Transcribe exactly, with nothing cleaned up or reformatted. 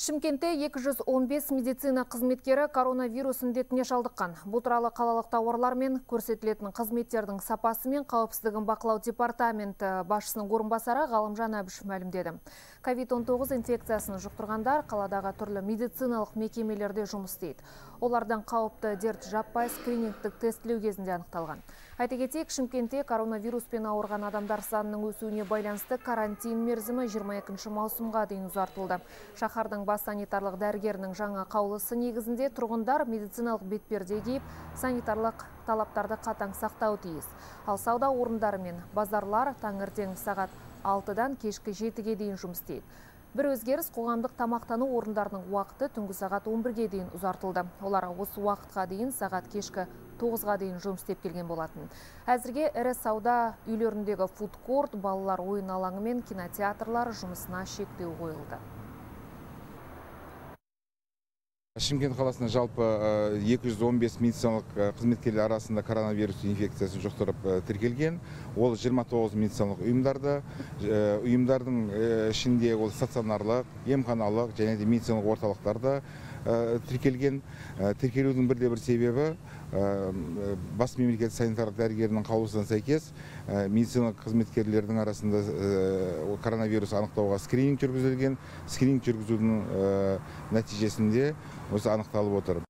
Шымкентте екі жүз он бес медицина қызметкері коронавирус індетіне шалдыққан. Бұл туралы қалалық тауарлар мен көрсетілетін қызметтердің сапасы мен қауіпсіздігін бақылау департаменті басшысының орынбасары Ғалымжан Әбішев мәлімдеді. ковид он тоғыз инфекциясын жұқтырғандар қаладағы түрлі медициналық мекемелерде жұмыс істейді. Олардан қауіпті дерт жаппай скринингтік тестілеу кезінде анықталған. Айта кетейік, Шымкентте коронавируспен ауырған адамдар санының өсуіне байланысты карантин мерзімі жиырма екінші маусымға дейін ұзартылды. Шаһардың бас санитарлық дәрігерінің жаңа қаулысы негізінде тұрғындар медициналық бетперде киіп, санитарлық талаптарды қатаң сақтау тиіс. Ал сауда орындары мен базарлар таңертең сағат алтыдан кешкі жетіге дейін жұмыс істейді. Бір өзгеріс, қоғамдық тамақтану орындарының уақыты түнгі сағат он бірге дейін ұзартылды. Олар осы уақытқа дейін сағат кешкі тоғызға дейін жұмыс істеп келген болатын. Әзірге ірі сауда үйлеріндегі фудкорт, балалар ойын алаңы мен кинотеатрлар жұмысына шектеу қойылды. Шымкент қаласында жалпы екі жүз он бес медициналық қызметкерлер арасында коронавирус инфекциясы жұқтырып тіркелген. Ол жиырма тоғыз медициналық ұйымдарды, ұйымдардың ішінде ол стационарлық, емханалық және де медициналық орталықтарда тіркелген. Тіркелудің бірде бір себебі бас мемлекет санитарлық дәрігерінің қаулысына сәйкес медициналық қызметкерлердің арасында коронавирус анықтауға скрининг жүргізілген. Скрининг жүргізудің нәтижесінде осы анықталып отыр.